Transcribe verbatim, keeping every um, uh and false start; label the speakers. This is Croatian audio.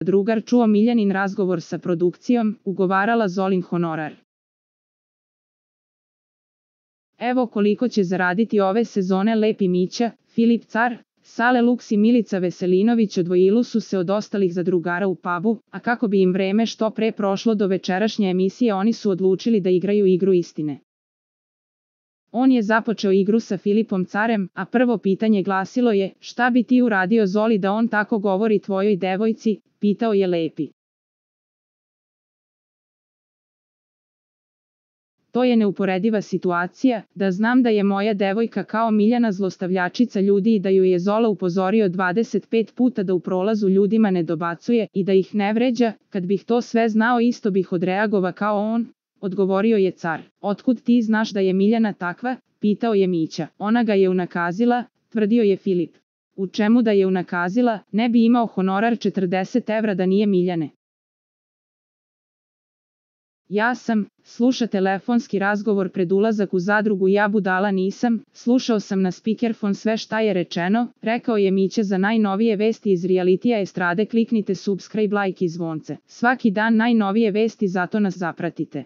Speaker 1: drugar čuo Miljanin razgovor sa produkcijom, ugovarala Zolin honorar. Evo koliko će zaraditi ove sezone Lepi Mića, Filip Car, Sale Luks i Milica Veselinović odvojili su se od ostalih zadrugara u pubu, a kako bi im vreme što pre prošlo do večerašnje emisije oni su odlučili da igraju igru istine. On je započeo igru sa Filipom Carem, a prvo pitanje glasilo je: šta bi ti uradio Zoli da on tako govori tvojoj devojci, pitao je Lepi. To je neuporediva situacija, da znam da je moja devojka kao Miljana zlostavljačica ljudi i da ju je Zola upozorio dvadeset pet puta da u prolazu ljudima ne dobacuje i da ih ne vređa, kad bih to sve znao isto bih odreagova kao on, odgovorio je Car. Otkud ti znaš da je Miljana takva, pitao je Mića. Ona ga je unakazila, tvrdio je Filip. U čemu da je unakazila, ne bi imao honorar četrdeset evra da nije Miljane. Ja sam, sluša telefonski razgovor pred ulazak u zadrugu ja budala nisam, slušao sam na spikerfon sve šta je rečeno, rekao je Mića za najnovije vesti iz realitija estrade kliknite subscribe like i zvonce. Svaki dan najnovije vesti zato nas zapratite.